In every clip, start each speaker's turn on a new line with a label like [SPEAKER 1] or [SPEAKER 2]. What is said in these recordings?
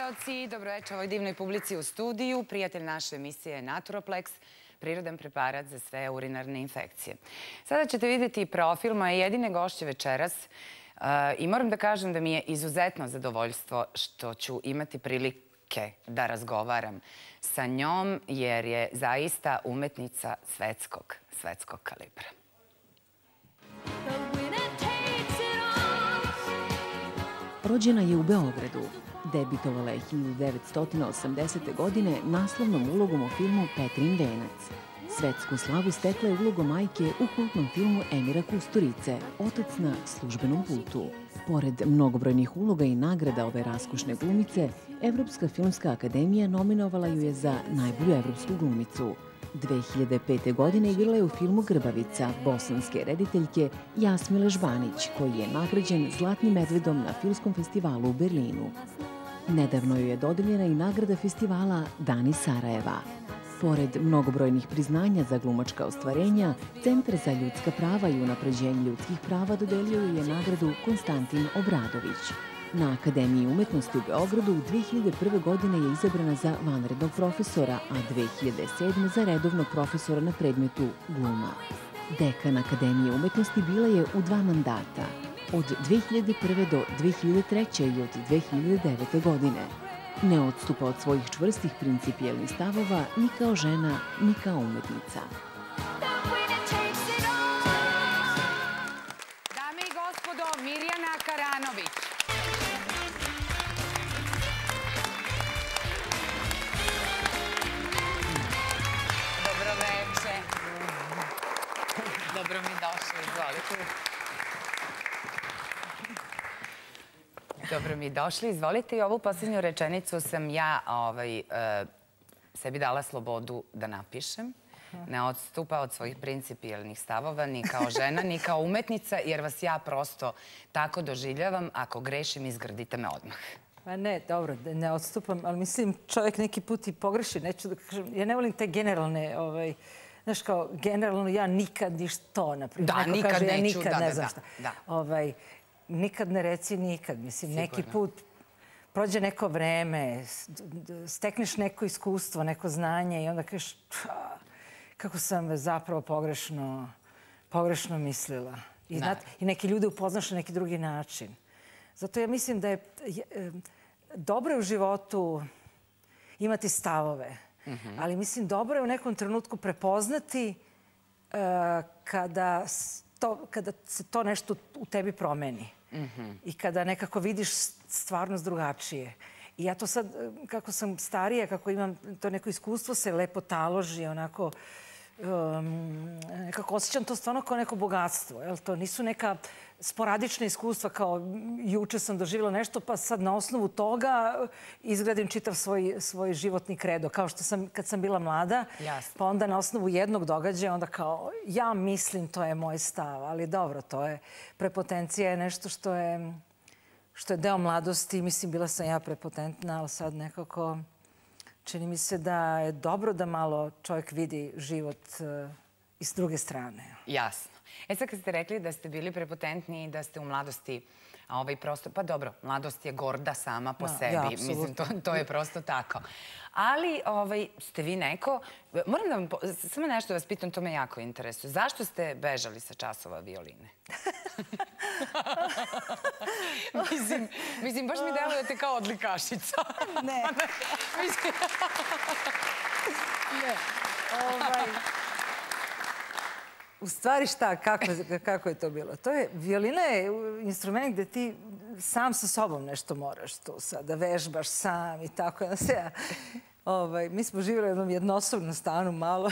[SPEAKER 1] gledaoci, dobroveče ovoj divnoj publici u studiju. Prijatelj naše emisije je Naturoplex, prirodan preparat za sve urinarne infekcije. Sada ćete vidjeti profil moje jedine gošće večeras i moram da kažem da mi je izuzetno zadovoljstvo što ću imati prilike da razgovaram sa njom, jer je zaista umetnica svetskog kalibra.
[SPEAKER 2] Rođena je u Beogradu. Debitovala je 1980. godine naslovnom ulogom u filmu Petrin venac. Svetsku slavu stekla je ulogom majke u kultnom filmu Emira Kusturice, Otac na službenom putu. Pored mnogobrojnih uloga i nagrada ove raskušne glumice, Evropska filmska akademija nominovala ju je za najbolju evropsku glumicu. 2005. godine igrala je u filmu Grbavica bosanske rediteljke Jasmile Žbanić, koji je nagrađen Zlatnim medvedom na filmskom festivalu u Berlinu. Nedavno joj je dodeljena i nagrada festivala Dani Sarajeva. Pored mnogobrojnih priznanja za glumačka ostvarenja, Centar za ljudska prava i unapređenje ljudskih prava dodelio joj je nagradu Konstantin Obradović. Na Akademiji umetnosti u Beogradu 2001. godine je izabrana za vanrednog profesora, a 2007. za redovnog profesora na predmetu gluma. Dekan Akademije umetnosti bila je u 2 mandata, od 2001. do 2003. i od 2009. godine. Ne odstupa od svojih čvrstih principijelnih stavova ni kao žena, ni kao umetnica.
[SPEAKER 1] Dame i gospodo, Mirjana Karanović. Dobroveče. Dobro mi došli, izvolite. Dobro mi došli, izvolite. I ovu posljednju rečenicu sam ja sebi dala slobodu da napišem. Ne odstupa od svojih principijelnih stavova ni kao žena, ni kao umetnica, jer vas ja prosto tako doživljavam. Ako grešim, izgrdite me odmah.
[SPEAKER 3] Pa ne, dobro, ne odstupam, ali mislim čovjek neki put i pogreši. Neću da kažem, ja ne volim te generalne, znaš kao, generalno ja nikad ništo, naprimjer.
[SPEAKER 1] Da, nikad neću,
[SPEAKER 3] da. Nikad ne reci nikad. Mislim, neki put prođe neko vreme, stekneš neko iskustvo, neko znanje i onda kažeš kako sam zapravo pogrešno mislila. I neki ljude upoznaš na neki drugi način. Zato ja mislim da je dobro je u životu imati stavove, ali mislim dobro je u nekom trenutku prepoznati kada se to nešto u tebi promeni i kada nekako vidiš stvarnost drugačije. I ja to sad, kako sam starija, kako imam to neko iskustvo, se lepo taloži, onako, nekako osjećam to stvarno kao neko bogatstvo. To nisu neka sporadična iskustva kao juče sam doživjela nešto, pa sad na osnovu toga izgradim čitav svoj životni kredo. Kao što sam, kad sam bila mlada, pa onda na osnovu jednog događaja, onda kao ja mislim to je moj stav. Ali dobro, to je, prepotencija je nešto što je deo mladosti. Mislim, bila sam ja prepotentna, ali sad nekako čini mi se da je dobro da malo čovjek vidi život i s druge strane.
[SPEAKER 1] Jasno. Sad kad ste rekli da ste bili prepotentni i da ste u mladosti prosto, pa dobro, mladost je gorda sama po sebi. Mislim, to je prosto tako. Ali ste vi neko, moram da vam, samo nešto da vas pitam, to me jako interesuje. Zašto ste bežali sa časova violine? Mislim, baš mi delujete kao odlikašica.
[SPEAKER 3] Ne. Ne. U stvari šta, kako je to bilo? Violina je instrument gde ti sam sa sobom nešto moraš tu sad, da vežbaš sam i tako. Mi smo živjeli u jednom jednosobnom stanu malo.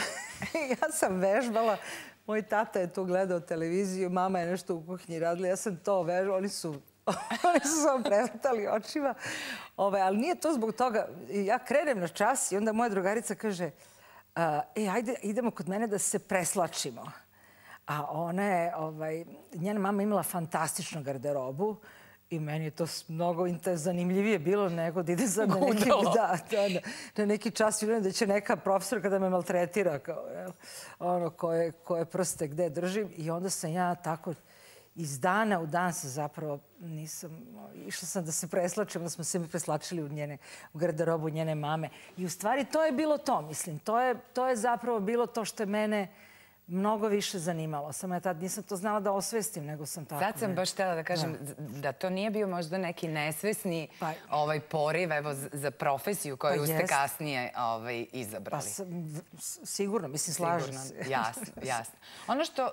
[SPEAKER 3] Ja sam vežbala, moj tata je tu gledao televiziju, mama je nešto u kuhinji radila, ja sam to vežbala, oni su samo prevrtali očima. Ali nije to zbog toga. Ja krenem na čas i onda moja drugarica kaže ajde, idemo kod mene da se preslačimo. A ona je, njena mama imala fantastičnu garderobu i meni je to mnogo zanimljivije bilo nego da ide sad na neki čas i da će neka profesorka da me maltretira, koje prste gde držim. I onda sam ja tako iz dana u dan se zapravo nisam... Išla sam da se preslačem, da smo se mi preslačili u garderobu njene mame. I u stvari to je bilo to, mislim. To je zapravo bilo to što je mene mnogo više zanimalo. Samo ja tad nisam to znala da osvestim, nego sam tako...
[SPEAKER 1] Sad sam baš htjela da kažem da to nije bio možda neki nesvesni poriv za profesiju koju ste kasnije izabrali.
[SPEAKER 3] Sigurno, mislim, slažem se.
[SPEAKER 1] Jasno, jasno. Ono što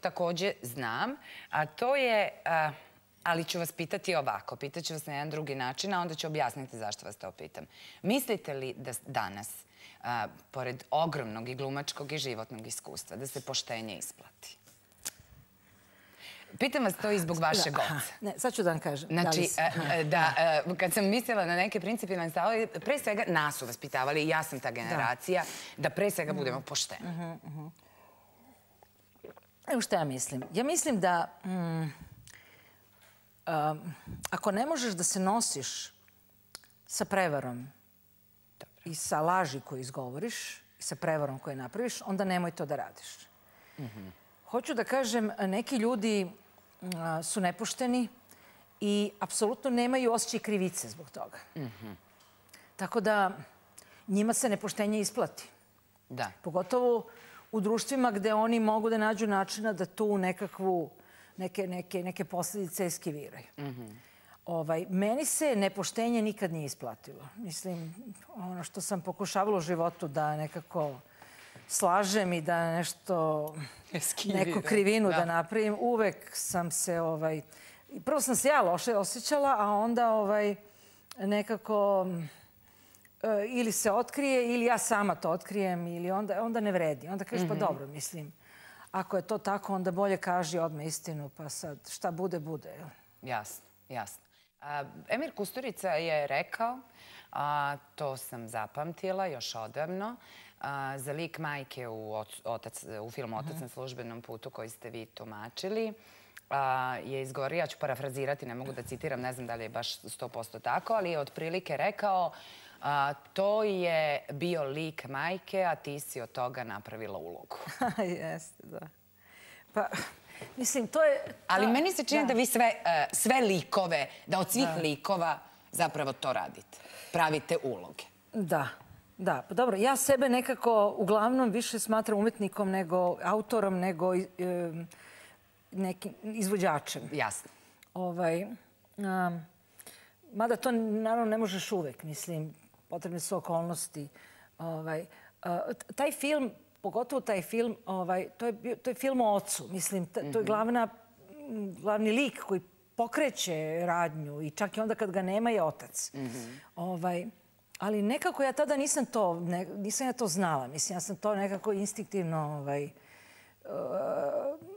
[SPEAKER 1] također znam, a to je... Ali ću vas pitati ovako, pitaću vas na jedan drugi način, a onda ću objasniti zašto vas to pitam. Mislite li da danas, pored ogromnog i glumačkog i životnog iskustva, da se poštenje isplati? Pitam vas to i zbog vašeg oca.
[SPEAKER 3] Ne, sad ću da vam kažem.
[SPEAKER 1] Znači, kad sam mislila na neke principijalne stavove, pre svega nas su vaspitavali, i ja sam ta generacija, da pre svega budemo pošteni.
[SPEAKER 3] Evo što ja mislim. Ja mislim da ako ne možeš da se nosiš sa prevarom i sa laži koju izgovoriš i sa prevarom koju napraviš, onda nemoj to da radiš. Hoću da kažem, neki ljudi su nepošteni i apsolutno nemaju osjećaj krivice zbog toga. Tako da njima se nepoštenje isplati. Pogotovo u društvima gde oni mogu da nađu načina da tu neke posljedice eskiviraju. Meni se nepoštenje nikad nije isplatilo. Mislim, ono što sam pokušavala u životu da nekako slažem i da nešto, neku krivinu da napravim, uvek sam se, prvo sam se ja loše osjećala, a onda nekako ili se otkrije ili ja sama to otkrijem ili onda ne vredi. Onda kažeš pa dobro, mislim, ako je to tako, onda bolje kaži odmah istinu, pa sad šta bude, bude.
[SPEAKER 1] Jasno, jasno. Emir Kusturica je rekao, to sam zapamtila još odavno, za lik majke u filmu Otac na službenom putu koji ste vi tumačili, je izgovorio, ja ću parafrazirati, ne mogu da citiram, ne znam da li je baš 100% tako, ali je otprilike rekao to je bio lik majke, a ti si od toga napravila ulogu.
[SPEAKER 3] Jeste, da. Pa, mislim, to je...
[SPEAKER 1] Ali meni se čini da vi sve likove, da od svih likova zapravo to radite. Pravite uloge.
[SPEAKER 3] Da, da. Pa dobro, ja sebe nekako uglavnom više smatram umetnikom nego autorom, nego nekim izvođačem.
[SPEAKER 1] Jasno.
[SPEAKER 3] Mada to naravno ne možeš uvek, mislim, potrebne su okolnosti. Taj film, pogotovo taj film, to je film o ocu. Mislim, to je glavni lik koji pokreće radnju i čak i onda kad ga nema je otac. Ali nekako ja tada nisam ja to znala. Mislim, ja sam to nekako instinktivno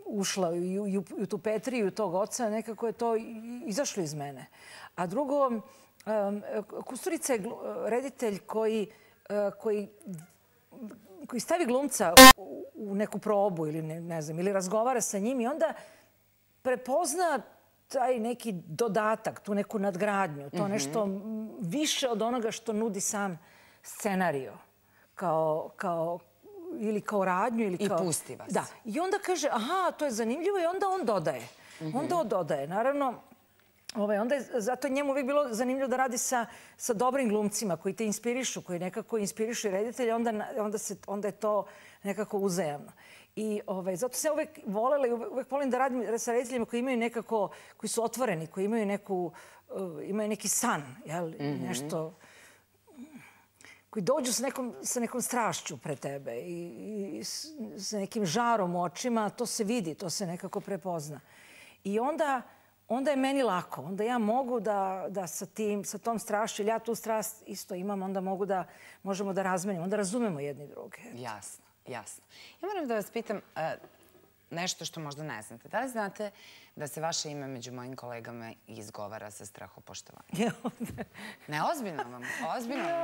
[SPEAKER 3] ušla i u tu Petriju tog oca. Nekako je to izašlo iz mene. A drugo, Kusturica je reditelj koji stavi glumca u neku probu ili ne znam, ili razgovara sa njim i onda prepozna taj neki dodatak, tu neku nadgradnju, to nešto više od onoga što nudi sam scenario. Ili kao radnju.
[SPEAKER 1] I pusti vas.
[SPEAKER 3] Da. I onda kaže, aha, to je zanimljivo i onda on dodaje. Onda on dodaje. Naravno, zato je njemu uvijek bilo zanimljivo da radi sa dobrim glumcima koji te inspirišu, koji nekako inspirišu reditelja, onda je to nekako uzajamno. I zato sam uvijek volela i uvijek volim da radim sa rediteljima koji imaju nekako, koji su otvoreni, koji imaju neki san, nešto, koji dođu sa nekom strašću pre tebe i sa nekim žarom u očima, to se vidi, to se nekako prepozna. I onda je meni lako. Onda ja mogu da sa tom strašću, ili ja tu strast isto imam, onda možemo da razmenimo, onda razumemo jedni druge.
[SPEAKER 1] Jasno, jasno. Ja moram da vas pitam nešto što možda ne znate. Da li znate da se vaše ime među mojim kolegama izgovara sa strahopoštovanjem? Ne, ozbiljno vam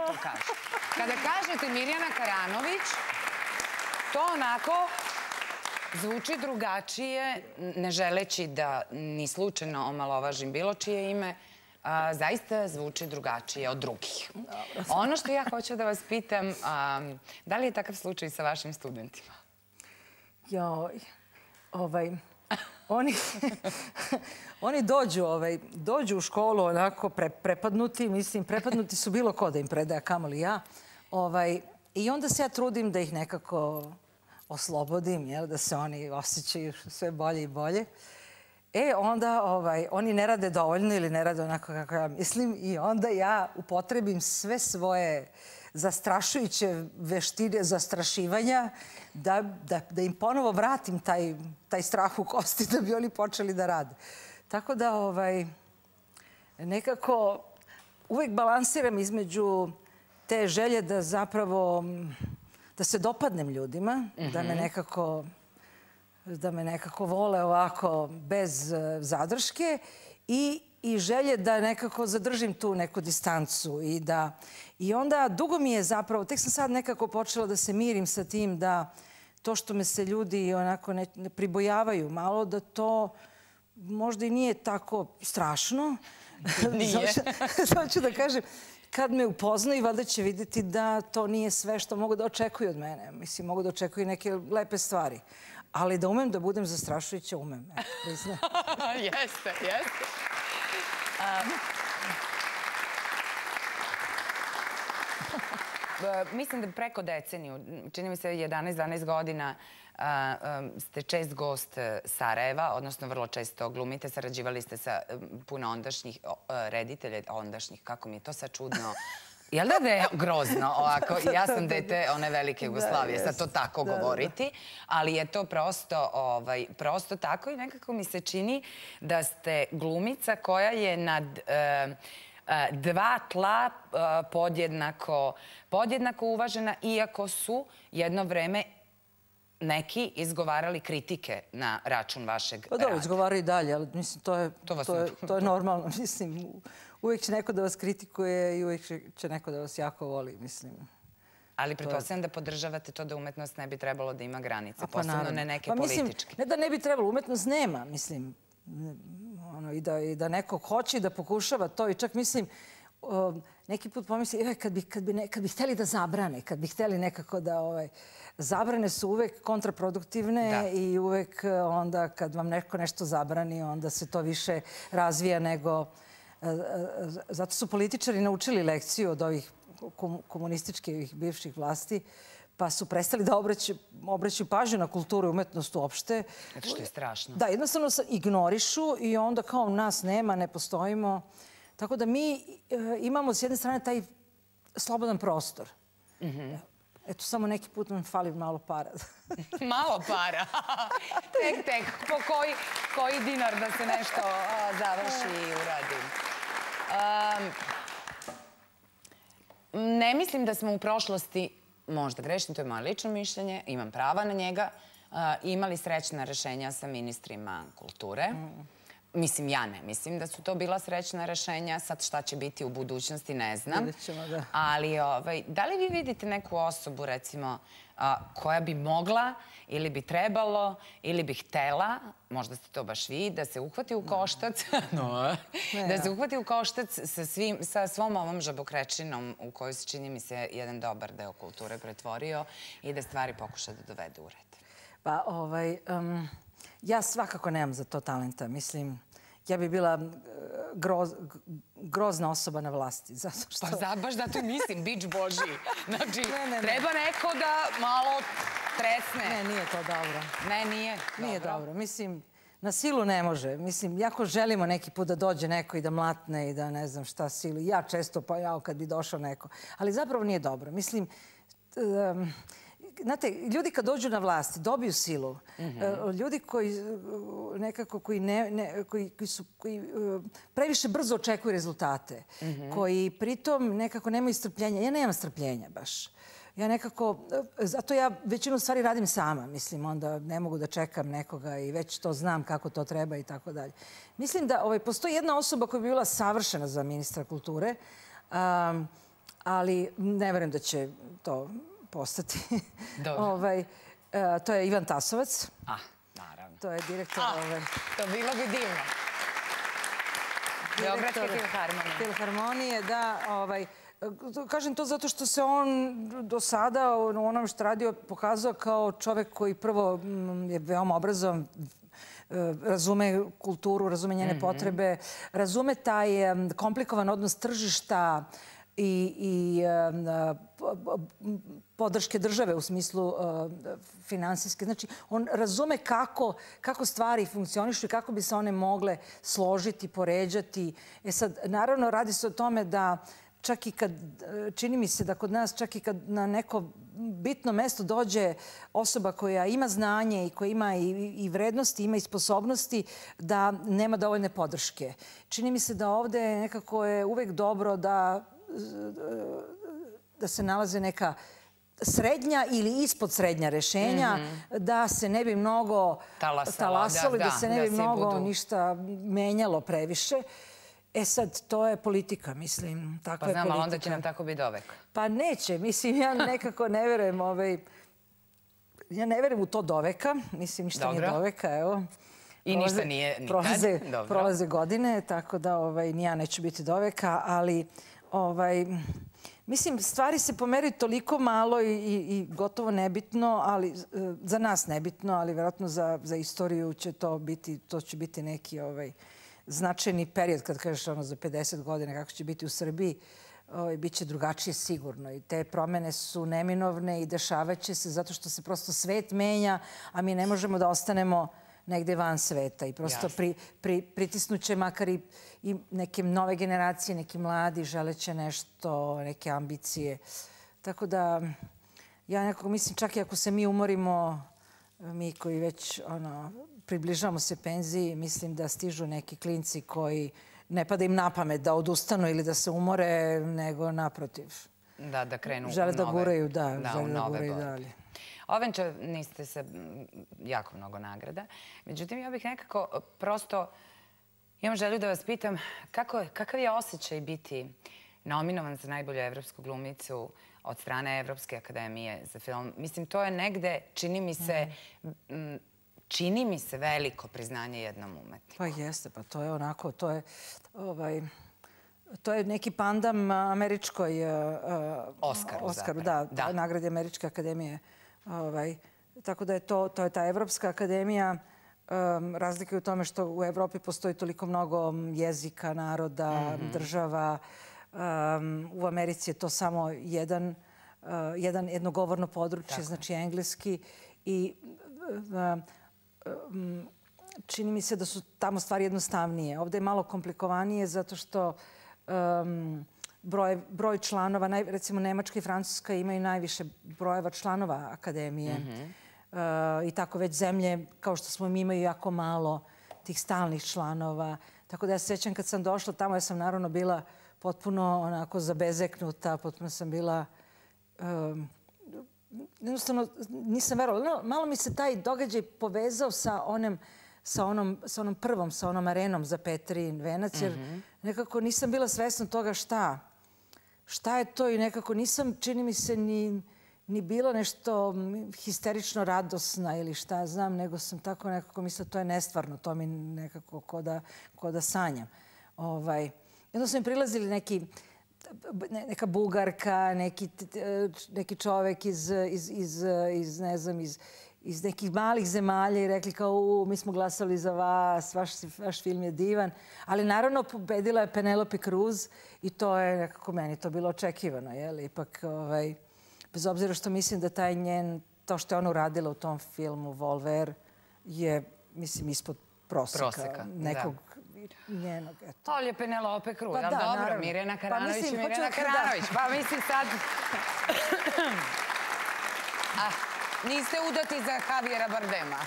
[SPEAKER 1] to kažem. Kada kažete Mirjana Karanović, to onako zvuči drugačije, ne želeći da ni slučajno omalovažim bilo čije ime, zaista zvuči drugačije od drugih. Ono što ja hoću da vas pitam, da li je takav slučaj sa vašim studentima?
[SPEAKER 3] oni dođu u školu onako prepadnuti, mislim, prepadnuti su bilo ko da im predaje, kamoli ja. I onda se ja trudim da ih nekako oslobodim, da se oni osjećaju sve bolje i bolje. Onda oni ne rade dovoljno ili ne rade onako kako ja mislim i onda ja upotrebim sve svoje zastrašujuće veštine zastrašivanja da im ponovo vratim taj strah u kosti da bi oni počeli da rade. Tako da nekako uvijek balansiram između te želje da zapravo da se dopadnem ljudima, da me nekako vole ovako bez zadrške i želje da nekako zadržim tu neku distancu. I onda dugo mi je zapravo, tek sam sad nekako počela da se mirim sa tim da to što me se ljudi onako ne pribojavaju malo, da to možda i nije tako strašno.
[SPEAKER 1] Nije.
[SPEAKER 3] Hoću da kažem, kad me upoznaju, valjda će vidjeti da to nije sve što mogu da očekuju od mene. Mislim, mogu da očekuju neke lepe stvari. Ali da umem da budem zastrašujuća, umem. Priznam.
[SPEAKER 1] Jeste. Mislim da preko deceniju, čini mi se 11-12 godina, ste čest gost Sarajeva, odnosno vrlo često glumite, sarađivali ste sa puno ondašnjih reditelja, kako mi je to sad čudno. Jel da je grozno ovako? Ja sam dete one velike Jugoslavije, sad to tako govoriti, ali je to prosto tako i nekako mi se čini da ste glumica koja je nad dva tla podjednako uvažena, iako su jedno vreme neki izgovarali kritike na račun vašeg rada.
[SPEAKER 3] Pa dobro, izgovaraju i dalje, ali mislim, to je normalno. Mislim, uvijek će neko da vas kritikuje i uvijek će neko da vas jako voli, mislim.
[SPEAKER 1] Ali pretpostavljam da podržavate to da umetnost ne bi trebalo da ima granice, posebno ne neke političke.
[SPEAKER 3] Ne da ne bi trebalo, umetnost nema, mislim. I da neko hoće da pokušava to i čak mislim, neki put pomisli, kad bi htjeli da zabrane, kad bi htjeli nekako da zabrane su uvek kontraproduktivne i uvek onda kad vam neko nešto zabrani, onda se to više razvija nego... Zato su političari naučili lekciju od ovih komunističkih bivših vlasti, pa su prestali da obraćaju pažnju na kulturu i umetnost uopšte.
[SPEAKER 1] Zato što je strašno.
[SPEAKER 3] Da, jednostavno ignorišu i onda kao nas nema, ne postojimo. Tako da mi imamo s jedne strane taj slobodan prostor. Eto, samo neki put nam fali malo para.
[SPEAKER 1] Malo para? Tek, po koji dinar da se nešto završi i uradi. Ne mislim da smo u prošlosti, možda grešim, to je moje lično mišljenje, imam prava na njega, imali srećna rešenja sa ministrima kulture. Mislim, ja ne mislim da su to bila srećna rešenja. Sad šta će biti u budućnosti, ne znam. Ali da li vi vidite neku osobu, recimo, koja bi mogla ili bi trebalo ili bi htela, možda ste to baš vi, da se uhvati u koštac, da se uhvati u koštac sa svom ovom žabokrečinom u kojoj se, čini mi se, jedan dobar deo kulture pretvorio i da stvari pokuša da dovede u red?
[SPEAKER 3] Pa, ja svakako nemam za to talenta. Mislim, ja bi bila grozna osoba na vlasti.
[SPEAKER 1] Pa baš zato i mislim, bič Božji. Znači, treba neko da malo tresne.
[SPEAKER 3] Ne, nije to dobro.
[SPEAKER 1] Ne, nije.
[SPEAKER 3] Nije dobro. Mislim, na silu ne može. Mislim, jako želimo neki put da dođe neko i da mlatne i da ne znam šta silu. Ja često, pa ja kad bi došao neko. Ali zapravo nije dobro. Mislim, znate, ljudi kad dođu na vlast dobiju silu. Ljudi koji nekako, koji previše brzo očekuju rezultate, koji pritom nekako nemaju strpljenja. Ja nemam strpljenja baš. Ja nekako, zato ja većinu stvari radim sama, mislim, onda ne mogu da čekam nekoga i već to znam kako to treba i tako dalje. Mislim da postoji jedna osoba koja bi bila savršena za ministra kulture, ali ne verujem da će to postati. To je Ivan Tasovac.
[SPEAKER 1] Naravno.
[SPEAKER 3] To je direktor...
[SPEAKER 1] To bilo bi divno. Beogradske filharmonije.
[SPEAKER 3] Filharmonije, da. Kažem to zato što se on do sada u onom što radio pokazao kao čovek koji prvo je veoma obrazovan, razume kulturu, razume njene potrebe, razume taj komplikovan odnos tržišta i podrške države u smislu finansijske. Znači, on razume kako stvari funkcionišu i kako bi se one mogle složiti, poređati. Sad, naravno, radi se o tome da čak i kad, čini mi se da kod nas, čak i kad na neko bitno mesto dođe osoba koja ima znanje i koja ima i vrednosti, ima i sposobnosti, da nema dovoljne podrške. Čini mi se da ovde nekako je uvek dobro da se nalaze neka srednja ili ispod srednja rešenja, da se ne bi mnogo talasalo, da se ne bi mnogo ništa menjalo previše. Sad, to je politika, mislim.
[SPEAKER 1] Pa znam, ali onda će nam tako biti dovek.
[SPEAKER 3] Pa neće, mislim, ja nekako ne verujem ja ne verujem u to doveka, mislim, ništa nije doveka, evo.
[SPEAKER 1] I ništa nije nikad.
[SPEAKER 3] Prolaze godine, tako da ni ja neću biti doveka, ali mislim, stvari se pomeraju toliko malo i gotovo nebitno, ali za nas nebitno, ali vjerojatno za istoriju će to će biti neki značajni period, kad kažeš za 50 godina kako će biti u Srbiji, bit će drugačije sigurno. I te promene su neminovne i dešavaće se zato što se prosto svet menja, a mi ne možemo da ostanemo negde van sveta. I prosto pritisnuće makar i neke nove generacije, neki mladi želeće nešto, neke ambicije. Tako da ja nekako mislim, čak i ako se mi umorimo, mi koji već približavamo se penziji, mislim da stižu neki klinci koji ne pada im na pamet da odustanu ili da se umore, nego naprotiv.
[SPEAKER 1] Da krenu u nove.
[SPEAKER 3] Žele da guraju, žele da guraju dalje.
[SPEAKER 1] Ovenča, niste se jako mnogo nagrada. Međutim, ja bih nekako prosto imam želju da vas pitam kakav je osjećaj biti nominovan za najbolju evropsku glumicu od strane Evropske akademije za film. Mislim, to je negde, čini mi se veliko priznanje jednom umetniku.
[SPEAKER 3] Pa jeste, pa to je onako, to je neki pandam američkoj Oskaru, da, nagradi Američke akademije. Tako da je to je ta Evropska akademija. Razlika je u tome što u Evropi postoji toliko mnogo jezika, naroda, država. U Americi je to samo jedno govorno područje, znači engleski. I čini mi se da su tamo stvari jednostavnije. Ovde je malo komplikovanije zato što broj članova, recimo Nemačka i Francuska imaju najviše brojeva članova akademije. I tako već zemlje, kao što smo mi, imaju jako malo tih stalnih članova. Tako da ja se sjećam kad sam došla tamo, ja sam naravno bila potpuno onako zabezeknuta, potpuno sam bila... Jednostavno, nisam verovala. Malo mi se taj događaj povezao sa onom prvom, sa onom arenom za Petrin Venac, jer nekako nisam bila svesna toga šta je to i nekako nisam, čini mi se, ni bila nešto histerično radosna ili šta ja znam, nego sam tako nekako mislila to je nestvarno, to mi nekako ko da sanjam. Jedno su mi prilazili neka Bugarka, neki čovek iz nekih malih zemalja i rekli kao mi smo glasali za vas, vaš film je divan. Ali naravno pobedila je Penelope Cruz i to je nekako meni to bilo očekivano. Ipak, bez obzira što mislim da to što je ona uradila u tom filmu Volver je, mislim, ispod proseka nekog njenog.
[SPEAKER 1] To je Penelope Cruz, ali dobro, Mirjana Karanović. Pa mislim sad... Niste udati za Javiera Bardema?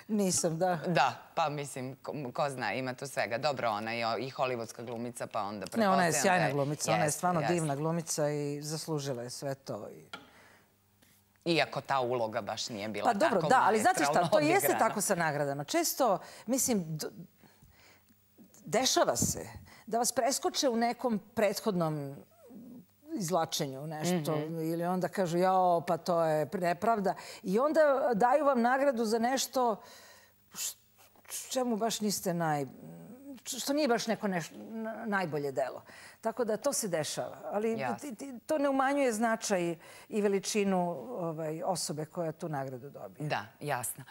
[SPEAKER 3] Nisam, da.
[SPEAKER 1] Da, pa mislim, ko zna, ima tu svega. Dobro, ona je i hollywoodska glumica, pa onda pretpostavljam...
[SPEAKER 3] Ne, ona je sjajna glumica, ona je stvarno divna glumica i zaslužila je sve to.
[SPEAKER 1] Iako ta uloga baš nije bila tako
[SPEAKER 3] maestralno odigrana. Pa dobro, da, ali znate šta, to jeste tako sa nagradama. Često, mislim, dešava se da vas preskoče u nekom prethodnom izvlačenju nešto ili onda kažu jao, pa to je nepravda. I onda daju vam nagradu za nešto čemu baš niste što nije baš neko najbolje delo. Tako da to se dešava. Ali to ne umanjuje značaj i veličinu osobe koja tu nagradu dobije.
[SPEAKER 1] Da, jasno.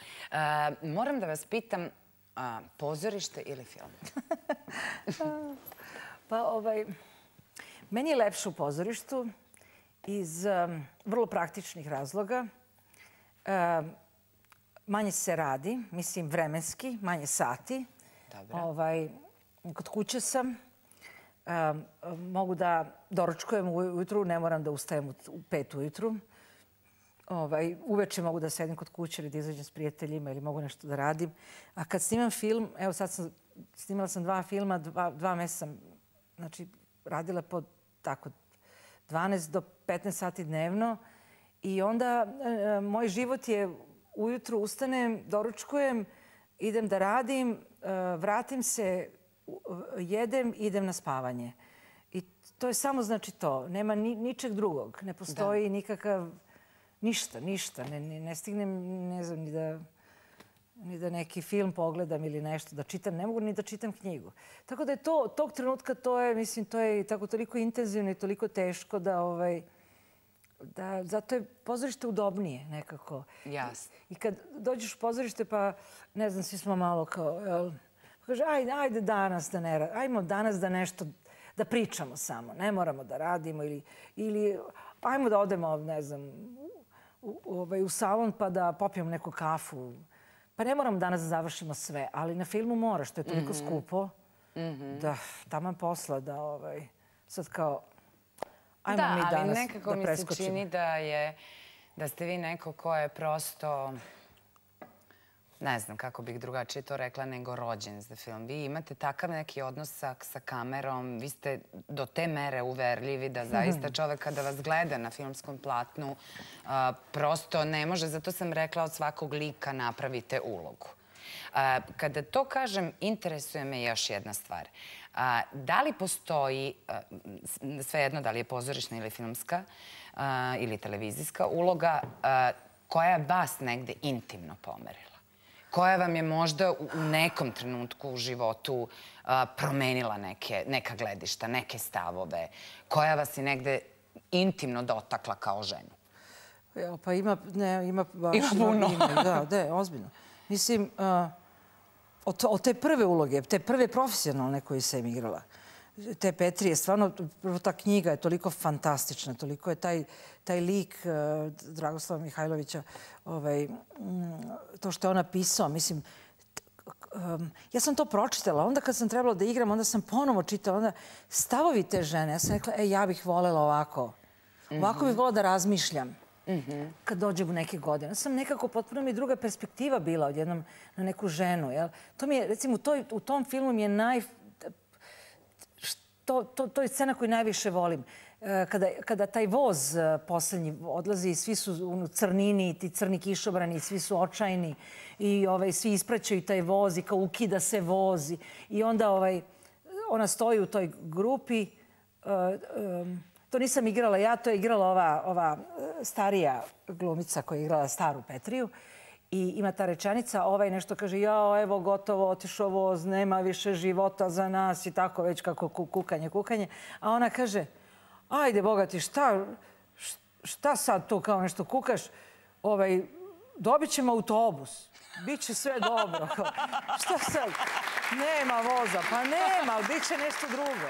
[SPEAKER 1] Moram da vas pitam, pozorište ili film?
[SPEAKER 3] Pa, meni je lepše u pozorištu iz vrlo praktičnih razloga. Manje se radi, mislim vremenski, manje sati. Kod kuće sam. Mogu da doručkujem ujutru, ne moram da ustajem u 5 ujutru. Uveče mogu da sedim kod kuće ili da izađem s prijateljima ili mogu nešto da radim. A kad snimam film, evo sad snimala sam 2 filma, 2 meseca sam radila po tako 12 do 15 sati dnevno i onda moj život je ujutru ustanem, doručkujem, idem da radim, vratim se, jedem, idem na spavanje. I to je samo znači to. Nema ničeg drugog. Ne postoji nikakav... Ništa. Ne stignem, ne znam, ni da neki film pogledam ili nešto da čitam. Ne mogu ni da čitam knjigu. Tako da je tog trenutka to je tako toliko intenzivno i toliko teško da zato je pozorište udobnije nekako.
[SPEAKER 1] Jasno.
[SPEAKER 3] I kad dođeš u pozorište pa, ne znam, svi smo malo kao, kaže, ajde danas da ne radimo, ajmo danas da nešto, da pričamo samo, ne moramo da radimo ili ajmo da odemo, ne znam, u salon pa da popijemo neku kafu. Pa ne moramo danas da završimo sve, ali na filmu mora, što je toliko skupo, da taman posla, da sad kao, ajmo mi danas da preskočimo.
[SPEAKER 1] Da, ali nekako mi se čini da ste vi neko ko je prosto, ne znam kako bih drugačije to rekla, nego rođen za film. Vi imate takav neki odnos sa kamerom, vi ste do te mere uverljivi da zaista čovek kada vas gleda na filmskom platnu prosto ne može, zato sam rekla od svakog lika napravite ulogu. Kada to kažem, interesuje me još jedna stvar. Da li postoji, svejedno da li je pozorišna ili filmska ili televizijska uloga, koja je vas negde intimno pomerila? Koja vam je možda u nekom trenutku u životu promenila neka gledišta, neke stavove? Koja vas je negde intimno dotakla kao ženu?
[SPEAKER 3] Pa ima baš...
[SPEAKER 1] Ima puno.
[SPEAKER 3] Da, ozbiljno. Mislim, od te prve uloge, te prve profesionalne koje sam igrala, te Petrije, stvarno, prvo ta knjiga je toliko fantastična, toliko je taj lik Dragoslava Mihajlovića, to što je on napisao, mislim, ja sam to pročitala, onda kad sam trebala da igram, onda sam ponovo čitala, onda stavovi te žene, ja sam rekla, ja bih voljela ovako, ovako bih voljela da razmišljam kad dođem u neke godine. Sam nekako potpuno mi druga perspektiva bila odjednom na neku ženu. To mi je, recimo, u tom filmu mi je to je scena koju najviše volim. Kada taj voz poslednji odlazi, svi su u crnini, ti crni kišobrani, svi su očajni i svi ispraćaju taj voz i kao ukida se voz. I onda ona stoji u toj grupi. To nisam igrala ja, to je igrala ova starija glumica koja je igrala staru Petriju. I ima ta rečenica, nešto kaže, jao, evo, gotovo, otišao voz, nema više života za nas i tako već kako kukanje. A ona kaže, ajde, Boga ti, šta sad tu kao nešto kukaš? Dobit ćemo autobus, bit će sve dobro. Šta sad? Nema voza, pa nema, ali bit će nešto drugo.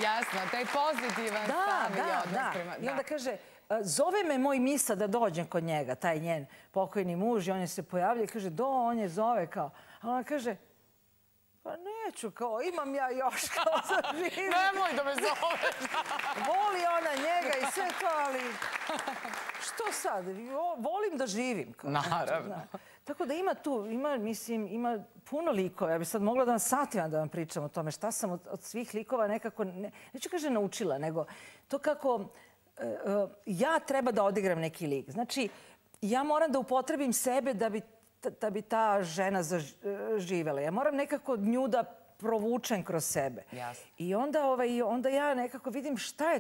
[SPEAKER 1] Jasno, taj pozitivan stav i odnos prema...
[SPEAKER 3] I onda kaže, zove me moj misa da dođem kod njega, taj njen pokojni muž, i on je se pojavlja i kaže, on je zove kao. A ona kaže, pa neću, kao, imam ja još, kao, za živim.
[SPEAKER 1] Nemoj da me zoveš.
[SPEAKER 3] Voli ona njega i sve to, ali što sad? Volim da živim.
[SPEAKER 1] Naravno.
[SPEAKER 3] Tako da ima puno likova. Ja bih sad mogla da vam satima da vam pričam o tome šta sam od svih likova nekako, neću kaže naučila, nego to kako ja treba da odigram neki lik. Znači, ja moram da upotrebim sebe da bi ta žena zaživela. Ja moram nekako nju da provučem kroz sebe. I onda ja nekako vidim šta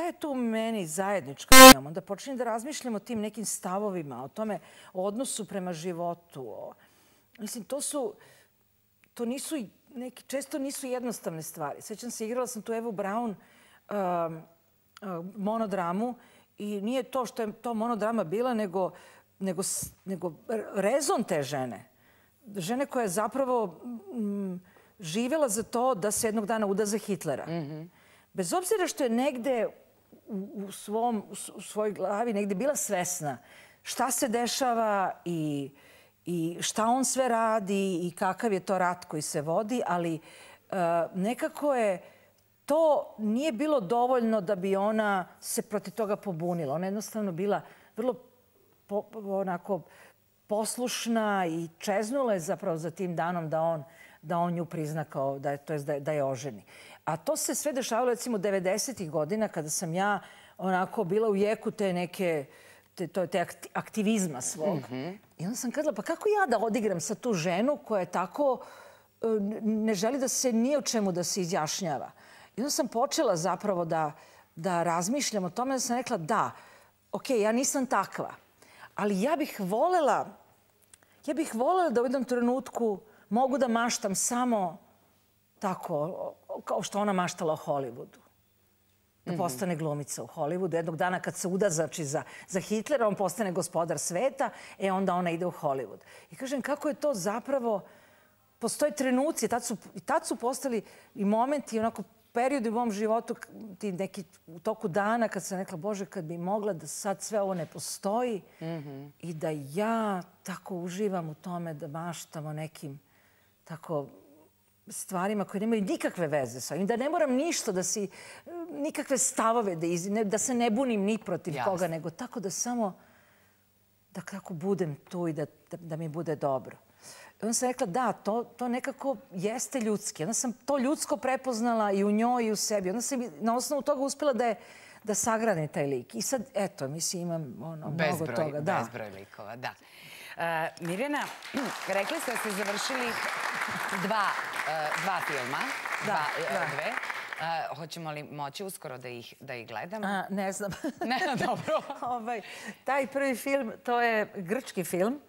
[SPEAKER 3] je tu meni zajedničko. Onda počinjem da razmišljam o tim nekim stavovima, o tome, o odnosu prema životu. Mislim, to nisu često nisu jednostavne stvari. Sećam se, igrala sam tu Evu Braun monodramu i nije to što je to monodrama bila, nego rezon te žene. Žene koja je zapravo živjela za to da se jednog dana uda za Hitlera. Bez obzira što je negde u svojoj glavi negde bila svesna šta se dešava i šta on sve radi i kakav je to rat koji se vodi, ali nekako je to nije bilo dovoljno da bi ona se protiv toga pobunila. Ona je jednostavno bila vrlo onako poslušna i čeznula je zapravo za tim danom da on nju prizna kao da je oženi. A to se sve dešavalo recimo 90-ih godina kada sam ja onako bila u jeku te neke te aktivizma svog. I onda sam kazala, pa kako ja da odigram sad tu ženu koja je tako ne želi da se ni o čemu da se izjašnjava. I onda sam počela zapravo da razmišljam o tome, da sam rekla da, okej, ja nisam takva, ali ja bih volela da u jednom trenutku mogu da maštam samo tako, kao što ona maštala o Hollywoodu. Da postane glumica u Hollywoodu. Jednog dana kad se uda znači, za Hitlera, on postane gospodar sveta, onda ona ide u Hollywood. I kažem, kako je to zapravo... Postoje trenuci, tad su postali i momenti, onako periodi u mom životu, ti neki u toku dana kad sam rekla, Bože, kad bi mogla da sad sve ovo ne postoji i da ja tako uživam u tome da maštam o nekim tako stvarima koje nemaju nikakve veze sa ovim, da ne moram ništa, nikakve stavove da se ne bunim ni protiv koga, nego tako da samo da kako budem tu i da mi bude dobro. I onda sam rekla, da, to nekako jeste ljudski. Onda sam to ljudsko prepoznala i u njoj i u sebi. Onda sam na osnovu toga uspjela da sagradim taj lik. I sad, eto, mislim, imam mnogo toga.
[SPEAKER 1] Bezbroj likova, da. Mirjana, rekli ste da ste završili dva filma. Dve. Hoćemo li moći uskoro da ih gledamo?
[SPEAKER 3] Ne znam.
[SPEAKER 1] Ne, dobro.
[SPEAKER 3] Taj prvi film, to je grčki film.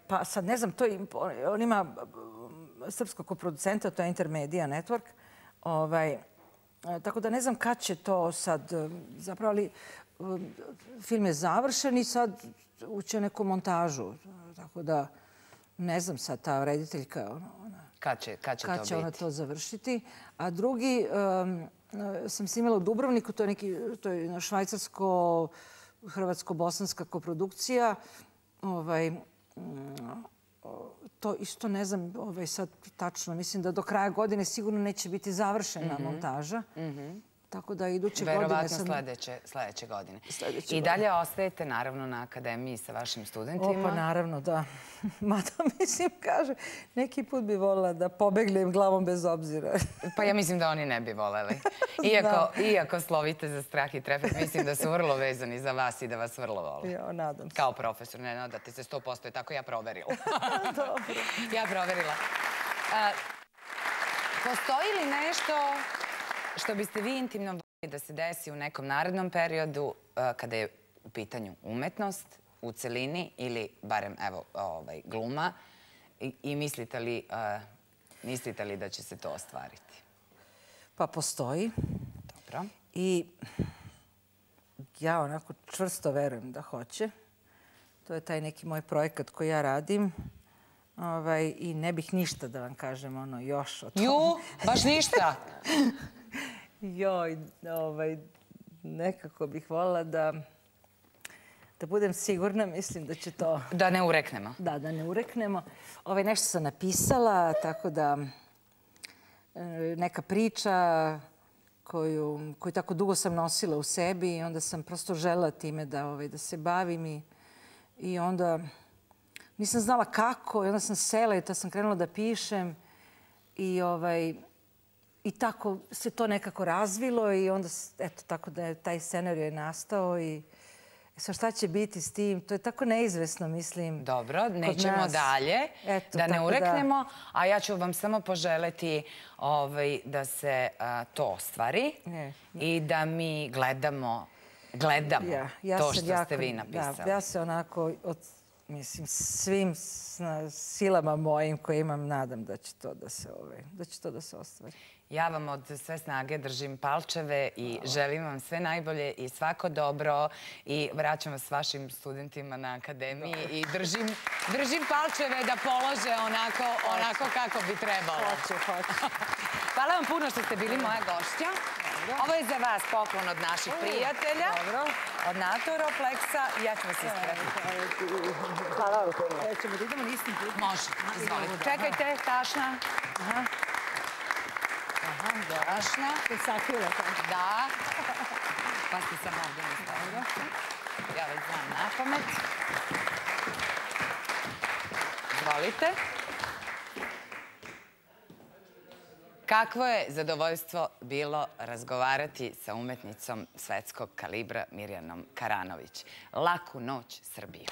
[SPEAKER 3] Pa sad ne znam, on ima srpskog koproducenta, to je Intermedia Network. Tako da ne znam kad će to sad zapravo, ali film je završen i sad uće neku montažu. Tako da ne znam sad ta rediteljka
[SPEAKER 1] kad će
[SPEAKER 3] ona to završiti. A drugi sam snimala u Dubrovniku, to je švajcarsko-hrvatsko-bosanska koprodukcija. To isto ne znam sad tačno. Mislim da do kraja godine sigurno neće biti završena montaža. Tako da iduće godine...
[SPEAKER 1] Verovatno sljedeće godine. I dalje ostajete naravno na akademiji sa vašim studentima?
[SPEAKER 3] Pa naravno, da. Mada mislim, kaže, neki put bi volila da pobegnem glavom bez obzira.
[SPEAKER 1] Pa ja mislim da oni ne bi voleli. Iako slovite za strah i trepet, mislim da su vrlo vezani za vas i da vas vrlo vole.
[SPEAKER 3] Ja, nadam se.
[SPEAKER 1] Kao profesor, ne nadate se 100%, je tako ja proverila.
[SPEAKER 3] Dobro.
[SPEAKER 1] Ja proverila. Postoji li nešto što biste vi intimno voljeli da se desi u nekom narednom periodu kada je u pitanju umetnost u celini ili barem gluma i mislite li da će se to ostvariti?
[SPEAKER 3] Pa postoji.
[SPEAKER 1] Dobro.
[SPEAKER 3] I ja onako čvrsto verujem da hoće. To je taj neki moj projekat koji ja radim. I ne bih ništa da vam kažem još o tome.
[SPEAKER 1] Baš ništa?
[SPEAKER 3] Joj, nekako bih voljela da budem sigurna, mislim da će to...
[SPEAKER 1] Da ne ureknemo.
[SPEAKER 3] Da ne ureknemo. Nešto sam napisala, tako da neka priča koju tako dugo sam nosila u sebi i onda sam prosto želela time da se bavim i onda nisam znala kako i onda sam sela i to sam krenula da pišem i tako se to nekako razvilo i onda, eto, tako da je taj scenarij je nastao i šta će biti s tim, to je tako neizvesno, mislim.
[SPEAKER 1] Dobro, nećemo dalje, da ne ureknemo, a ja ću vam samo poželeti da se to ostvari i da mi gledamo to što ste vi napisali.
[SPEAKER 3] Ja se onako mislim, svim silama mojim koje imam, nadam da će to da se ostvari.
[SPEAKER 1] Ja vam od sve snage držim palčeve i želim vam sve najbolje i svako dobro i vraćam vas vašim studentima na akademiji i držim palčeve da polože onako kako bi trebalo.
[SPEAKER 3] Hoću.
[SPEAKER 1] Hvala vam puno što ste bili moja gošća. Ovo je za vas poklon od naših prijatelja, od Naturoplexa. Ja ću vas ispratiti.
[SPEAKER 3] Hvala vam puno. Ćemo da idemo istim putem?
[SPEAKER 1] Može, izvolite. Čekajte, tašna. Tašna.
[SPEAKER 3] Sakrila tako.
[SPEAKER 1] Da. Pa ste sam ovdje mi stavila. Ja već znam na pamet. Izvolite. Kakvo je zadovoljstvo bilo razgovarati sa umetnicom svetskog kalibra Mirjanom Karanović. Laku noć, Srbijo.